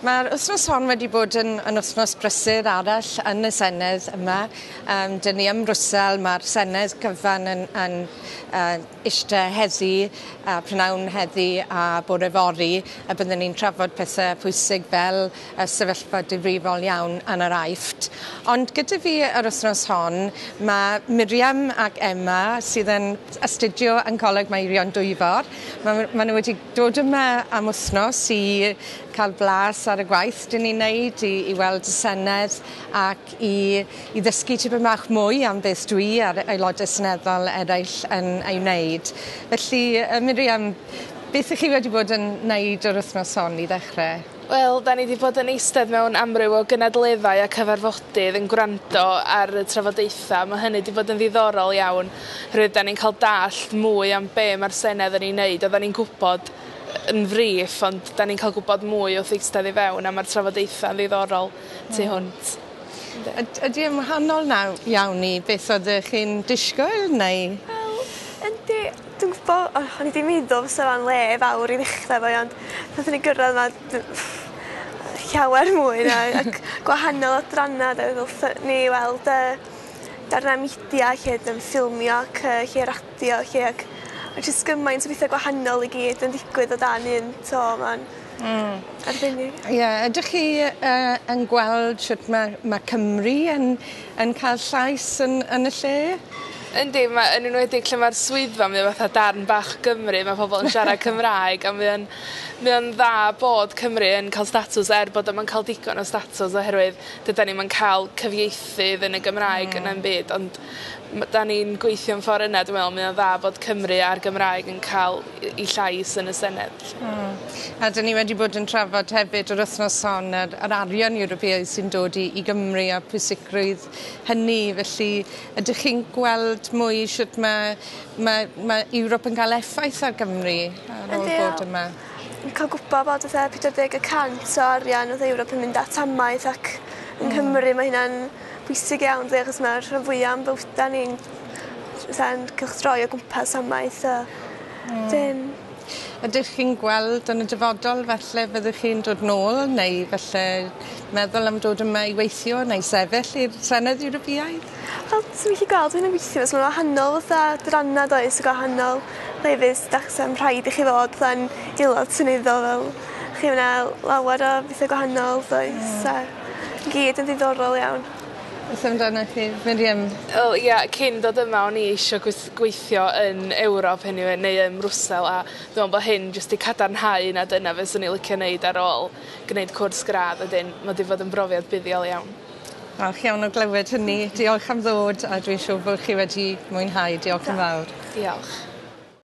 Mae'r wythnos hon wedi bod yn wythnos brysur arall yn y Senedd yma. Dyn ni ym Mrwsel, mae'r Senedd gyfan yn eiste heddi, prynawn heddi a bore fory, a byddwn ni'n trafod pethau pwysig fel y sefyllfa difrifol iawn yn yr Aifft. Ond gyda fi yr wythnos hon, mae Miriam ac Emma sydd yn astudio yn Coleg Meirion Dwyfor. Ma' nhw wedi dod yma am wythnos i cael blas ar y gwaith dyn ni'n neud, i weld y Senedd ac i ddysgu tipyn bach mwy am beth dwi a'r aelodau seneddol eraill yn ei wneud. Felly, Miriam, beth ych chi wedi bod yn neud yr wythnos hon i ddechrau? Wel, da ni wedi bod yn eistedd mewn amryw o gynadleddau a cyfarfodydd yn gwrando ar y trafodaethau. Mae hynny wedi bod yn ddiddorol iawn, oherwydd da ni'n cael dallt mwy am be mae'r Senedd yn ei wneud. Oedden ni'n gwybod yn friff, ond da ni'n cael gwybod mwy wrth eistedd i fewn, a mae'r trafodaethau yn ddiddorol tu hwnt. Ydy yn wahanol nawr iawn i beth oeddech chi'n disgwyl, neu? Wel, yndi, dwi'n gwybod, o'n i 'di meddwl fysa fo'n le fawr i ddechrau fo, ond nathon ni gyrraedd yma llawer mwy na ac gwahanol adrannau, ddothon ni weld darnau media lle yn ffilmio ac lle radio lle ac jyst gymaint o bethau gwahanol i gyd yn digwydd o dan un to, ma'n arbennig. Ie, ydych chi yn gweld sut mae Cymru yn cael llais yn y lle? Yndi, yn enwedig lle mae'r swyddfa, mae o fatha darn bach o Gymru, mae pobl yn siarad Cymraeg, a mae o'n dda bod Cymru yn cael statws er bod o'm yn cael digon o statws oherwydd dydan ni'm yn cael cyfieithydd yn y Gymraeg yn am byd, ond da ni'n gweithio'n ffordd yna, dwi'n meddwl, mae o'n dda bod Cymru a'r Gymraeg yn cael ei llais yn y Senedd. A dyn ni wedi bod yn trafod hefyd yr wythnos hon yr arian Ewropeaidd sy'n dod i Gymru a pwysigrwydd hynny, felly ydych chi'n gweld mwy sut mae Ewrop yn cael effaith ar Gymru ar ôl bod yma? Yn cael gwybod bod 40% o arian oedd Ewrop yn mynd at amaeth ac yng Nghymru mae hynna'n bwysig iawn, achos mae'r rhan fwyaf o'n bywydau ni'n cylchdroi o gwmpas amaeth. Ydych chi'n gweld yn y dyfodol falle fyddwch chi'n dod nôl neu falle meddwl am dod yma i weithio neu sefyll i'r Senedd Ewropeaidd? Wel, swn i'n gallu gweld hynny'n weithio, achos mae'n wahanol fatha adrannau does, gwahanol lefydd, achos rhaid i chi fod fatha'n aelod seneddol fel chi yna lawer o bethau gwahanol does, a gyd yn ddiddorol iawn. Beth amdanoch chi, Miriam? Wel, ia, cyn dod yma o'n i eisiau gweithio yn Ewrop anyway, neu ym Mrwsel, a dwi'n meddwl bod hyn jyst i cadarnhau na dyna fyswn i'n licio wneud ar ôl gwneud cwrs gradd, wedyn mae wedi bod yn brofiad buddiol iawn. Falch iawn o glywed hynny. Diolch am ddod, a dwi'n siŵr bod chi wedi mwynhau. Diolch yn fawr. Diolch.